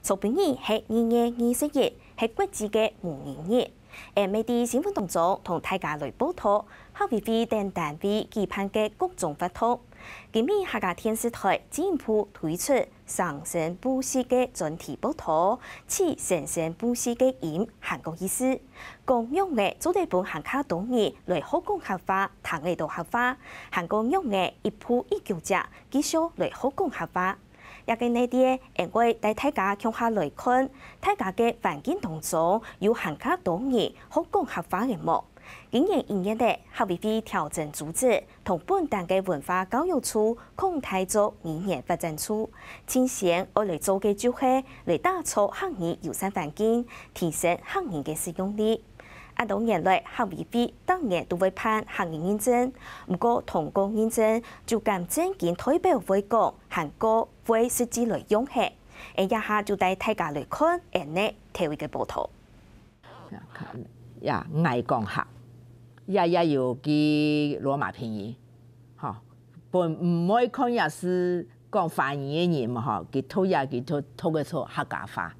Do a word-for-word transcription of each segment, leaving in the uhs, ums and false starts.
昨晡日係二月二十一，係國際个無人日。𠊎等乜在新聞當中同大家來報導，客委會等單位舉辦个各種活動。今日客家電視台進一步推出生生不息个專題報導，取生生不息个音還過意思，講仰仔做得分還較多人來學講客話，聽得著客話，還過仰仔一步一腳跡繼續來學講客話。 這個系列，𠊎會帶大家共下來看，大家个環境當中有還較多人學講客話个無？今年一月仔，客委會調整組織，同本單个文化教育處擴大做語言發展處。首先愛來做个就係來打造客語友善環境，提升客語个使用率。恁多年來，客委會逐年都會辦客語認證，毋過通過認證就敢正經代表會講，還過 會實際來用係。𠊎這下就帶大家來看𠊎等頭一個報導。呀，𠊎講客，也也有佢羅馬拼音，吼，本毋會看也係講華語个人嘛，吼，佢讀也佢讀讀个出客家話。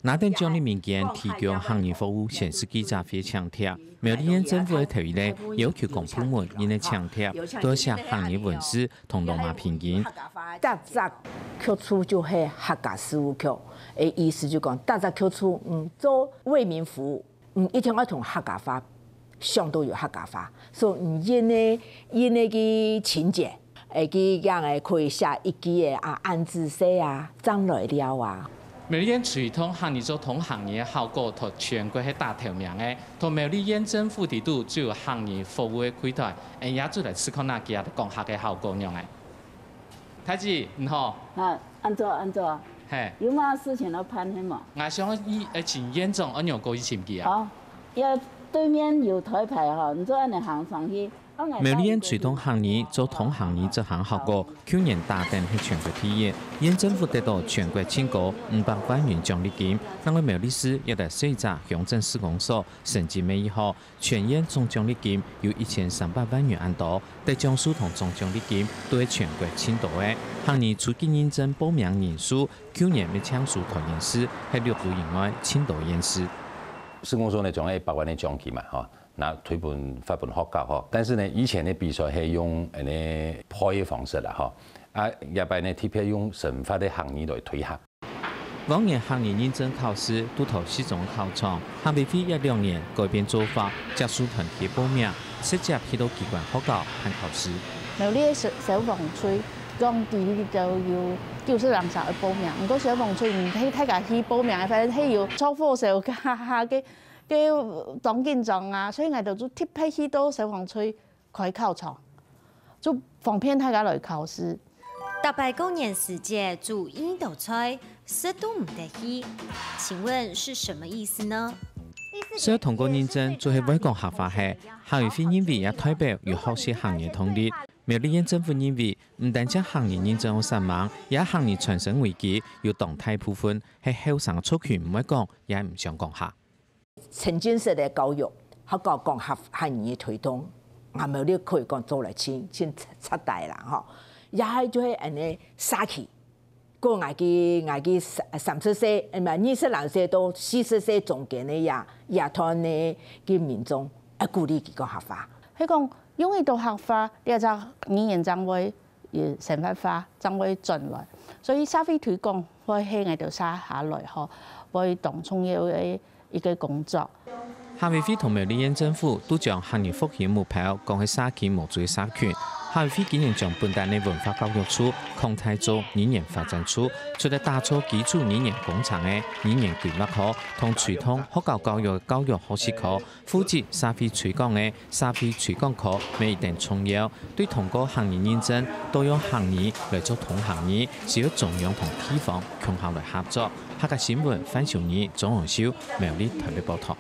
拿等獎勵名單提供客語服務宣示記者會請帖，苗栗縣政府个頭一個要求公部門應該請帖，都寫客語文字同羅馬拼音。逐隻局處就係客家事務局，誒，意思就講，逐隻局處，嗯，做為民服務，嗯，一定愛同客家話，想到有客家話，所以，嗯，因為因為个情節。 誒，佢樣誒可以寫一句誒啊，恁仔細啊，正來尞啊。苗栗縣推動客語做通行語个效果，在全國係打頭名个。同苗栗縣政府底肚就有客語服務个櫃台，𠊎也做來試看下佢講客个效果樣誒。太子，你好。啊，恁早，恁早。嘿。有麼事情要辦係無？𠊎想要，誒，請縣長，安樣過去尋佢啊。哦，要對面有台牌吼，你就恁樣行上去。 苗栗縣推動客語做通行語執行效果，舊年打等係全國第一，縣政府得到全國盡高五百萬元獎勵金。另外苗栗市也在細隻鄉鎮市公所成績乜異好，全縣總獎勵金有一千三百萬元恁多，得獎數同總獎勵金都係全國盡多个。客語初級認證報名人數，舊年乜淨輸桃園市，係六都以外盡多縣市。市公所呢，總共一百萬个獎金嘛，吼。 拿推分發分學校吼。但是呢，以前个比賽係用恁呢配个方式啦吼，啊，這擺呢特別用生活个客語來推行。往年客語認證考試都在市中考場，客委會這兩年改變做法，接受團體報名，直接去到機關學校辦考試。苗栗个消消防隊講，佢兜有九十人想愛報名，毋過消防隊毋係大家去報名，反正係有著火燒，哈哈个 該當緊張啊，所以𠊎兜就特別去到消防隊開考場，就方便大家來考試。逐擺過年時節煮異多菜，食都毋得去，請問是什麼意思呢？所以通過認證就係會講客話係，客委會認為也代表有學習客語个動力。苗栗縣政府認為，毋單淨客語認證有煞猛，也客語傳承危機有當大部分係後生族群毋會講，也毋想講客。 沉浸式个教育，學校講客客語个推動，𠊎苗栗可以講做來盡盡徹底啦吼。也係就係恁呢社區，過𠊎个𠊎个三三十歲，毋係二十零歲到四十歲中間个這這段个个民眾，愛鼓勵佢講客話。係講用一到客話，這隻語言正會 生活化，正會轉來。所以社會推廣會係𠊎兜接下來吼，會當重要个一個工作。客委會同苗栗縣政府都將客語復興目標講係社區無罪社群。客委會今年將本單个文化教育處擴大做語言發展處，除了打造基礎語言工程个語言規劃科，同推動學校教育个教育學習科， 負責社會推廣个社會推廣科乜一等重要，對通過客語認證，到用客語來做通行語，需要中央同地方共下來合作。客家新聞范秀儀、鍾榮秀，苗栗台北報導。